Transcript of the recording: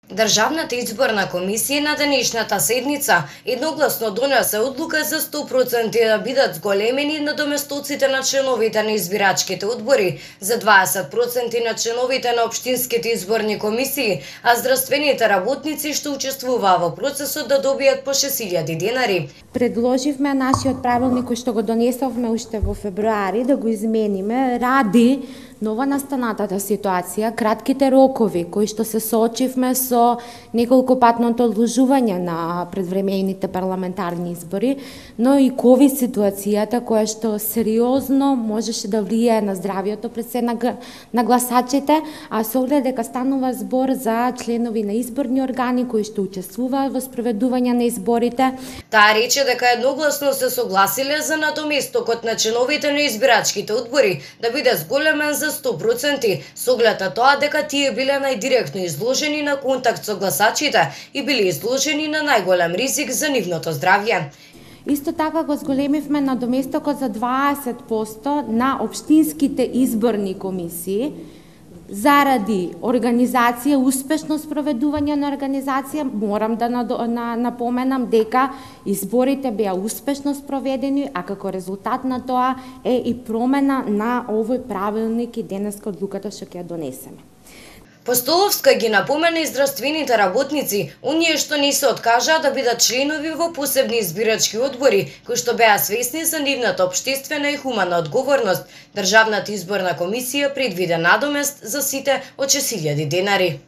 Државната изборна комисија на денешната седница едногласно донесе одлука за 100% да бидат зголемени надоместоците на членовите на избирачките одбори, за 20% на членовите на општинските изборни комисии, а здравствените работници што учествуваа во процесот да добијат по 6.000 денари. Предложивме нашиот правилник кој што го донесовме уште во февруари да го измениме ради нова настанатата ситуација, кратките рокови кои што се соочивме со неколку патното одложување на предвремените парламентарни избори, но и ковид ситуацијата која што сериозно можеше да влијае на здравието пред се на гласачите, а со оглед дека станува збор за членови на изборни органи кои што учествуваат во спроведување на изборите. Таа рече дека едногласно се согласиле за надоместокот на членовите на избирачките одбори да биде зголемен за 100%, со оглед на тоа дека тие биле најдиректно изложени на контакт со гласачите и биле изложени на најголем ризик за нивното здравје. Исто така го зголемивме надоместокот за 20% на општинските изборни комисии заради организација, успешно спроведување на организација. Морам да напоменам дека изборите беа успешно спроведени, а како резултат на тоа е и промена на овој правилник и денеска одлуката што ќе ја донесеме. Постоловска ги напомена и здравствените работници, оние што не се откажаа да бидат членови во посебни избирачки одбори, кои што беа свесни за нивната општествена и хумана одговорност. Државната изборна комисија предвиде надомест за сите од 6.000 денари.